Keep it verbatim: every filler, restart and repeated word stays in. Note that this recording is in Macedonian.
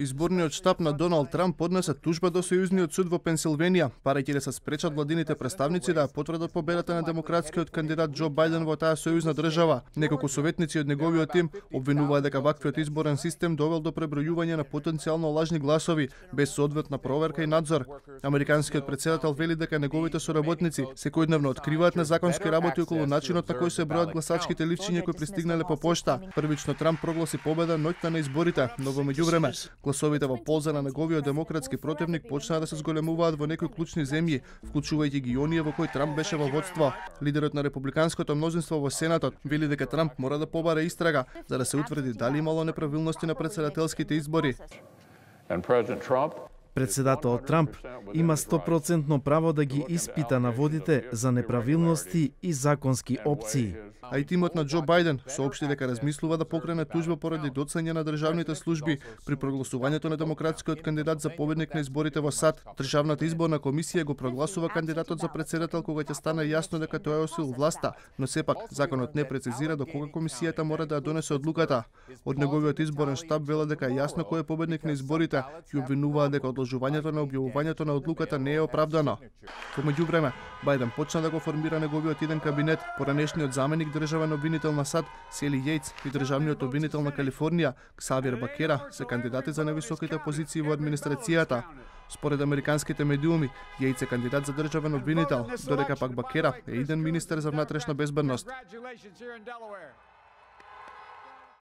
Изборниот штаб на Доналд Трамп поднесе тужба до Сојузниот суд во Пенсилванија, барајќи да се спречат владините представници да потврдат победата на демократскиот кандидат Џо Бајден во таа сојузна држава. Неколку советници од неговиот тим обвинуваат дека ваквиот изборен систем довел до пребројување на потенцијално лажни гласови без соодветна проверка и надзор. Американскиот претседател вели дека неговите соработници секојдневно откриваат незаконски работи околу начинот на кој се бројат гласачките ливчиња кои пристигнале по пошта. Првично Трамп прогласи победа ноќта на изборите, но во меѓувреме гласовите во полза на неговиот демократски противник почнаа да се зголемуваат во некои клучни земји, вклучувајќи ги оние во кои Трамп беше во водство. Лидерот на републиканското мнозинство во Сенатот вели дека Трамп мора да побара истрага за да се утврди дали имало неправилности на претседателските избори. Председателот Трамп има сто проценти право да ги испита наводите за неправилности и законски опции. А и тимот на Џо Бајден соопшти дека размислува да покрене тужба поради доцање на државните служби при прогласувањето на демократскиот кандидат за победник на изборите во САД. Државната изборна комисија го прогласува кандидатот за претседател кога ќе стане јасно дека тој е освоил власта, но сепак законот не прецизира до кога комисијата мора да ја донесе одлуката. Од неговиот изборен штаб велат дека е јасно кој е победник на изборите и обвинуваат дека одложувањето на објавувањето на одлуката не е оправдано. Во меѓувреме, Бајден почна да го формира неговиот иден кабинет. Поранешниот заменик државен обвинител на САД Сели Јејц и државниот обвинител на Калифорнија Ксавиер Бакера се кандидати за највисоките позиции во администрацијата. Според американските медиуми, Јејц е кандидат за државен обвинител, додека пак Бакера е иден министер за внатрешна безбедност.